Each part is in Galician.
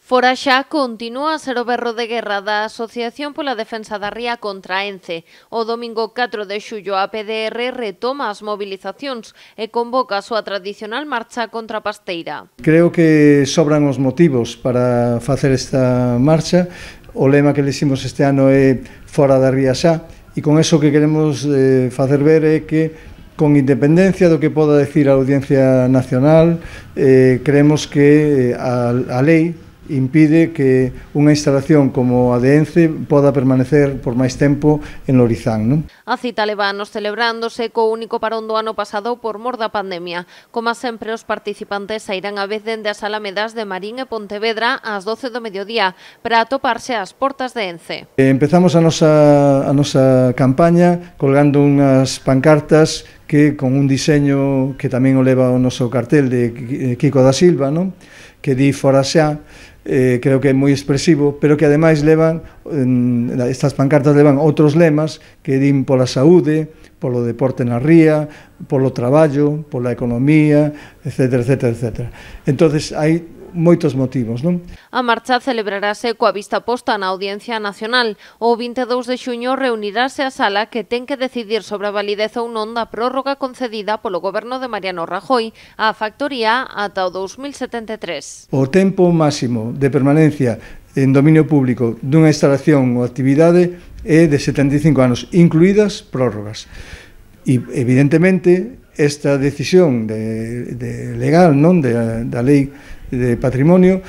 Fora xa continúa a ser o berro de guerra da Asociación pola Defensa da Ría contra Ence. O domingo 4 de xullo a PDR retoma as mobilizacións e convoca a súa tradicional marcha contra a pasteira. Creo que sobran os motivos para facer esta marcha. O lema que leximos este ano é Fora da Ría xa, e con eso que queremos facer ver é que con independencia do que poda decir a Audiencia Nacional, creemos que a lei impide que unha instalación como a de Ence poda permanecer por máis tempo en Lorizán, non? A cita leva anos celebrándose co único parón do ano pasado por mor da pandemia. Como sempre, os participantes sairán a vez dende as alamedas de Marín e Pontevedra ás 12 do mediodía para atoparse ás portas de Ence. Empezamos a nosa campaña colgando unhas pancartas que con un diseño que tamén o leva o noso cartel de Kiko da Silva, non? Que di Fora xa. Creo que é moi expresivo, pero que ademais estas pancartas levan outros lemas que din pola saúde, polo deporte na ría, polo traballo, pola economía, etcétera, etcétera, etcétera. Entonces hai moitos motivos, non? A marcha celebrarase coa vista posta na Audiencia Nacional. O 22 de xuño reunirase a sala que ten que decidir sobre a validez ou non da prórroga concedida polo goberno de Mariano Rajoy á factoría ata o 2073. O tempo máximo de permanencia en dominio público dunha instalación ou actividade é de 75 anos, incluídas prórrogas. E, evidentemente, esta decisión legal, non, da lei de patrimonio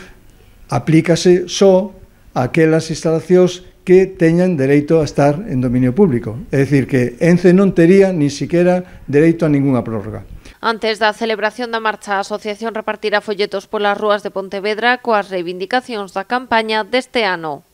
aplícase só a aquelas instalacións que teñan dereito a estar en dominio público. É dicir, que Ence non tería ni siquiera dereito a ningunha prórroga. Antes da celebración da marcha, a asociación repartirá folletos polas rúas de Pontevedra coas reivindicacións da campaña deste ano.